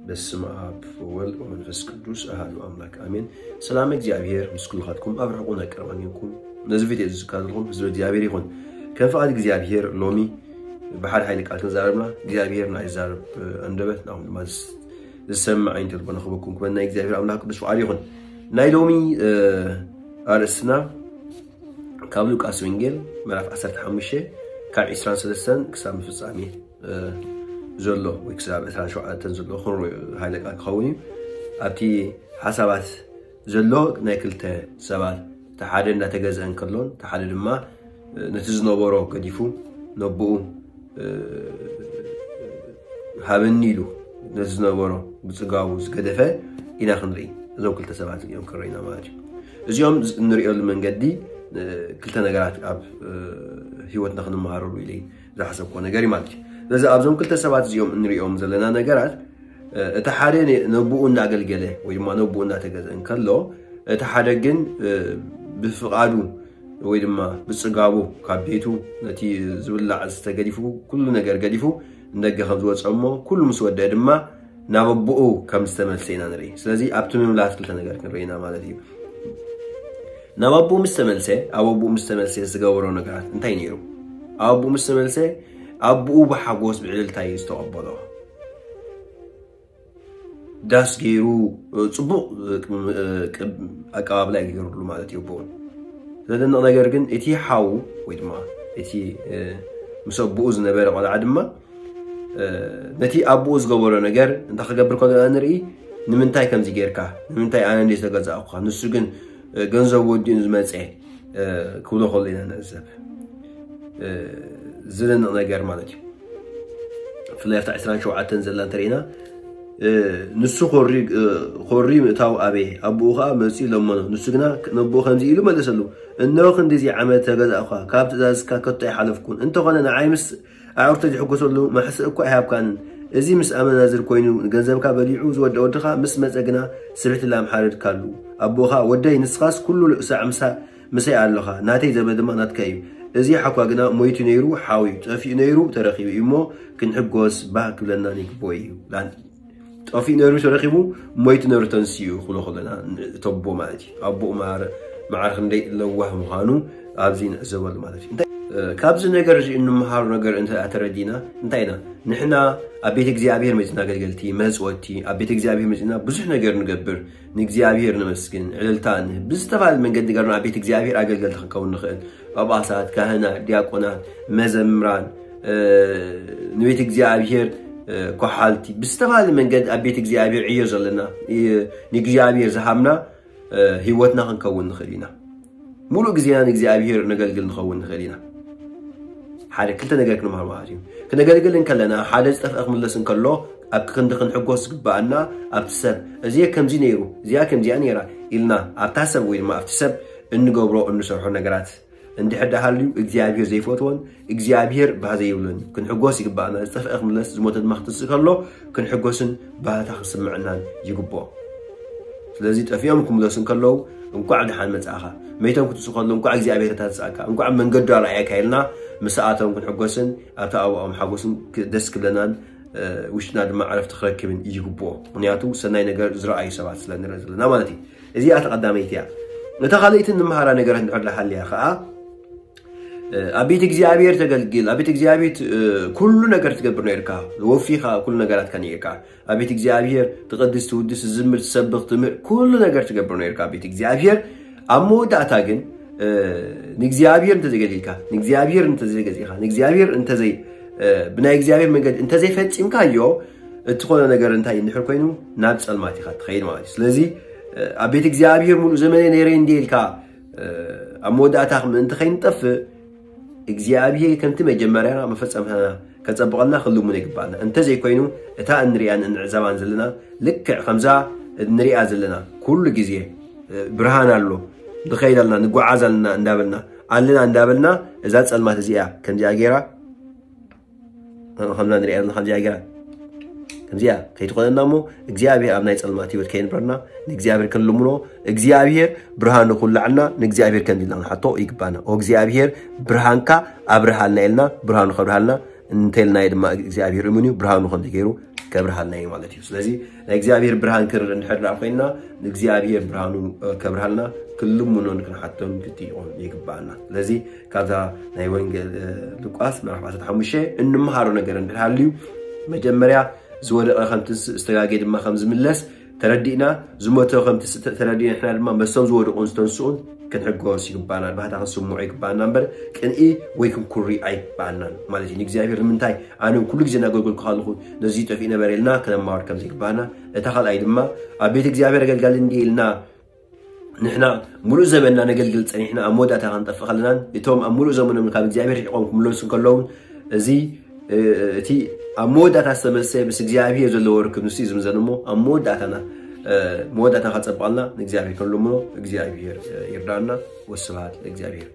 በስመ አብ ወወልድ ወመንፈስ ቅዱስ አሐዱ አምላክ አሜን። ሰላም እግዚኣብሔር ምስ ኩልኻትኩም ኣብ ርሑቕን ኣብ ቀረባን ይኹን። ነዚ ቪድዮ እዚ ዝከታተልኩም ህዝቢ እግዚኣብሔር ይኹን። ከም ፍቓድ እግዚኣብሔር ሎሚ ብሓደ ሓይሊ ቃል ክንዛረብና እግዚኣብሔር ናይ ዛረብ ኣንደበት ናኹም ድማ ዝሰምዕ ዓይኒ ልቦና ክበኩም ክበና እግዚኣብሔር ኣምላክ ቅዱስ ፍቓድ ይኹን። ናይ ሎሚ ኣርእስትና ካብ ሉቃስ ወንጌል ምዕራፍ ዓሰርተ ሓሙሽተ ካብ ዕስራን ሰለስተን ክሳብ ፍጻሜ ዘሎ ወይ ክሳብ ዕስራን ሸውዓተን ዘሎ ክንሪኦ ሓይለ ቃል ክኸውን እዩ። ኣብቲ ሓሳባት ዘሎ ናይ ክልተ ሰባት፣ እቲ ሓደ እንዳተገዝአ እንከሎን እቲ ሓደ ድማ ነቲ ዝነበሮ ገዲፉ ነብኡ ሃበኒ ኢሉ ነቲ ዝነበሮ ብፅጋቡ ዝገደፈ ኢና ክንርኢ። እዞም ክልተ ሰባት እዮም ክረኢና ማለት እዩ። እዚኦም እንሪኦሉ መንገዲ ክልተ ነገራት ኣብ ህይወትና ክንመሃረሉ ኢለ ዝሓሰብኮ ነገር እዩ ማለት እዩ። ስለዚ ኣብዞም ክልተ ሰባት እዚኦም እንሪኦም ዘለና ነገራት እቲ ሓደ ነብኡ እናገልገለ ወይ ድማ ነብኡ እናተገዘ እንከሎ እቲ ሓደ ግን ብፍቓዱ ወይ ድማ ብፅጋቡ ካብ ቤቱ ነቲ ዝብላዕ ዝተገዲፉ ኩሉ ነገር ገዲፉ እንደገ ከም ዝወፀ እሞ ኩሉ ምስ ወደአ ድማ ናብ ኣቦኡ ከም ዝተመልሰ ኢና ንርኢ። ስለዚ ኣብቲ ምምላስ ክልተ ነገር ክንርኢ ኢና ማለት እዩ። ናብ ኣቦኡ ምስ ተመልሰ ኣብ ኣቦኡ ምስ ተመልሰ ዝገበሮ ነገራት እንታይ ነይሩ? ኣብ ኣቦኡ ምስ ተመልሰ ኣቦኡ ብሓጎስ ብዕልልታ እዩ ዝተቐበሎ። ዳስ ገይሩ ፅቡቕ ኣቀባብላ ገይሩሉ ማለት እዩ ኣቦኡ። ዘደንቕ ነገር ግን እቲ ሓው ወይ ድማ እቲ ምስ ኣቦኡ ዝነበረ ቆልዓ ድማ ነቲ ኣቦኡ ዝገበሮ ነገር እንታይ ክገብር ከሎ ንርኢ። ንምንታይ ከምዚ ጌርካ? ንምንታይ ኣነ እንደ ዝተገዛእኩኻ ንሱ ግን ገንዘብ ወዲኡ ዝመፀ ክብሎ ከሎ ኢና ንዕዘብ። ዝደንቕ ነገር ማለት እዩ። ብፍላይ ኣብታ ዕስራን ሸውዓተን ዘላ እንተሪእና ንሱ ኮሪ ምእታው ኣበየ፣ ኣቦኡ ከዓ መፂኡ ለመኖ። ንሱ ግና ነቦኡ ከምዚ ኢሉ መለሰሉ፣ እነሆ ክንዲዚ ዓመት ተገዛእኳ፣ ካብ ትእዛዝካ ከቶ ኣይሓለፍኩን። እንተኾነ ንዓይ ምስ ኣዕሩኽተይ ዝሕጎሰሉ ማሕስእ እኳ ኣይሃብካንን። እዚ ምስ ኣመናዝር ኮይኑ ንገንዘብካ በሊዑ ዝወድአ ወድኻ ምስ መጸ ግና ስብሕቲ ላም ሓረድካሉ። ኣቦኻ፣ ወደይ፣ ንስኻስ ኩሉ ሳዕ ምሳ ምሳይ ኣለኻ፣ ናተይ ዘበ ድማ ናትካ እዩ። እዚ ሓኳ ግና ሞይቱ ነይሩ ሓው እዩ፣ ጠፊኡ ነይሩ ተረኺቡ እዩ እሞ ክንሕጎስ ባህ ክብለና ይግብኦ እዩ። ጠፊኡ ነይሩ ተረኺቡ፣ ሞይቱ ነይሩ ተንሲኡ ክብሎ ከለና እተቦ ማለት እዩ። ኣቦኡ ማር መዓር ክንደይ ለዋህ ምዃኑ ኣብዚ ንዕዘበሉ ማለት እዩ። እንታይ ካብዚ ነገር እዚ እንምሃሩ ነገር እንተ ተረዲና እንታይ ኢና? ንሕና ኣብ ቤት እግዚኣብሔር መጺና ኣገልገልቲ መጽወቲ ኣብ ቤት እግዚኣብሔር መጺና ብዙሕ ነገር ንገብር፣ ንእግዚኣብሔር ነመስግን፣ ዕልልታ ንህብ፣ ብዝተፈላለየ መንገዲ ገርና ኣብ ቤት እግዚኣብሔር ኣገልገልቲ ክንከውን ንኽእል። ጳጳሳት፣ ካህናት፣ ዲያቆናት፣ መዘምራን፣ ንቤት እግዚኣብሔር ኮሓልቲ ብዝተፈላለየ መንገዲ ኣብ ቤት እግዚኣብሔር ዕዮ ዘለና ንእግዚኣብሔር ዝሃብና ህይወትና ክንከውን ንኽእል ኢና። ሙሉእ ግዜና ንእግዚኣብሔር ነገልግል ንኸውን ንኽእል ኢና። ሓደ ክልተ ነገር ክንምሃር ማለት እዩ። ክነገልግል እንከለና ሓደ ዝጠፍአ ክምለስ እንከሎ ኣብ ክንዲ ክንሕጎስ ዝግባኣና ኣብቲ ሰብ እዚ ከምዚ ነይሩ እዚኣ ከምዚኣ ነይራ ኢልና ኣብታ ሰብ ወይ ድማ ኣብቲ ሰብ እንገብሮ እንሰርሖ ነገራት እንድሕር ደሃልዩ እግዚኣብሔር ዘይፈትዎን እግዚኣብሔር ባህ ዘይብሎን እዩ። ክንሕጎስ ይግባኣና። ዝጠፍአ ክምለስ ዝሞተ ድማ ክትስእ ከሎ ክንሕጎስን ባህታ ክስምዕናን ይግብኦ። ስለዚ ጠፊኦም ክምለሱ እንከለዉ እንኳዕ ደሓን መጻእኻ፣ መይቶም ክትስኡ ከለዉ እንኳዕ እግዚኣብሔር ተንስኣካ፣ እንኳዕ መንገዱ ኣርኣየካ ኢልና ምስኣቶም ክንሕጎስን ኣብቲ ኣባኦም ሓጎስን ደስ ክብለናን ውሽጥና ድማ ዕረፍቲ ክረክብን ይግብኦ። ምክንያቱ ሰናይ ነገር ዝረኣዩ ሰባት ስለ ንርኢ ዘለና ማለት እዩ። እዚኣ ተቐዳመይቲ እያ። እታ ካልኣይቲ ንምሃራ ነገራት እንድሕር ሃልያ ከዓ ኣብ ቤት እግዚኣብሔር ተገልግል፣ ኣብ ቤት እግዚኣብሔር ኩሉ ነገር ትገብር ነርካ፣ ወፊኻ ኩሉ ነገራትካ ነርካ። ኣብ ቤት እግዚኣብሔር ትቐድስ፣ ትውድስ፣ ትዝምር፣ ትሰብኽ፣ ትምህር ኩሉ ነገር ትገብር ነርካ ኣብ ቤት እግዚኣብሔር። ኣብ መወዳእታ ግን ንእግዚኣብሔር እንተዘይገዲልካ፣ ንእግዚኣብሔር እንተዘይገዚእካ፣ ንእግዚኣብሔር እንተዘይ ብናይ እግዚኣብሔር መንገዲ እንተዘይፈፂምካዮ እቲ ኮነ ነገር እንታይ እንድሕር ኮይኑ ናብ ፀልማት ኢኻ ትኸይድ ማለት እዩ። ስለዚ ኣብ ቤት እግዚኣብሔር ሙሉእ ዘመነ ነይረ እንዲ ኢልካ ኣብ መወዳእታ ምእንቲ ከይንጠፍእ እግዚኣብሔር ከምቲ መጀመርያና መፈጸምታና ከጸብቐልና ክልምኖ ይግባኣና። እንተዘይኮይኑ እታ እንሪኣን እንዕዘባን ዘለና ልክዕ ከምዛ እንሪኣ ዘለና ኩሉ ግዜ ብርሃን ኣሎ ንኸይድ ኣለና ንጓዓዝ ኣለና እንዳበልና ኣለና እንዳበልና እዛ ጸልማት እዚኣ ከምዚኣ ገይራ ከምዛ ንሪኣ ዘለና ከምዚኣ ገይራ ከምዚኣ ከይትኾነና እሞ እግዚኣብሔር ኣብ ናይ ጸልማት ህይወት ከየንብረና ንእግዚኣብሔር ክንልምኖ እግዚኣብሔር ብርሃኑ ኩላዕልና ንእግዚኣብሔር ከምዚ ኢልና ክንሓቶ ይግባና። ኦ እግዚኣብሔር ብርሃንካ ኣብርሃልና ኢልና ብርሃኑ ከብርሃልና እንተልናዮ ድማ እግዚኣብሔር እሙን እዩ። ብርሃኑ ከምዚ ገይሩ ከብርሃልና እዩ ማለት እዩ። ስለዚ ናይ እግዚኣብሔር ብርሃን ክንርኢ እንድሕር ደኣ ኮይና ንእግዚኣብሔር ብርሃኑ ከብርሃልና ክንልምኖን ክንሓቶን ክትይቆን ይግባኣና። ስለዚ ካብዛ ናይ ወንጌል ሉቃስ ምዕራፍ ዓሰርተ ሓሙሽተ እንምሃሮ ነገር እንድሕር ሃልዩ መጀመርያ ዝወደቐ ከም ትንስእ ዝተጋጌ ድማ ከም ዝምለስ ተረዲእና፣ ዝሞተ ከም ትስእ ተረዲእና ንሕና ድማ መስቶም ዝወደቑን ዝተንስኡን ክንሕጎስ ይግባና። ባህታ ክንስምዖ ይግባና እምበር ቅንኢ ወይ ክንኩሪ ኣይግባናን ማለት እዩ። ንእግዚኣብሔር ንምንታይ ኣነ ኩሉ ግዜ እናገልገልኩ ከለኹ ነዚ ጠፊኡ ነበረ ኢልና ክነማወር ከም ዘይግባና፣ እታ ካልኣይ ድማ ኣብ ቤት እግዚኣብሔር ኣገልጋሊ እንዲ ኢልና ንሕና ሙሉእ ዘበንና ነገልግል ጸኒሕና ኣብ መወዳእታ ክንጠፍእ ከለናን እቶም ኣብ ሙሉእ ዘመኖም ካብ እግዚኣብሔር ርሒቖም ክምለሱ እንከለውን እዚ እቲ ኣብ መወዳእታ ዝተመሰ ምስ እግዚኣብሔር ዘለዎ ርክብ ንሱ እዩ ዝምዘን እሞ ኣብ መወዳእታና መወዳእታ ከጸብቐልና ንእግዚኣብሔር ክንልምኖ እግዚኣብሔር ይርዳና። ወስብሃት ለእግዚኣብሔር።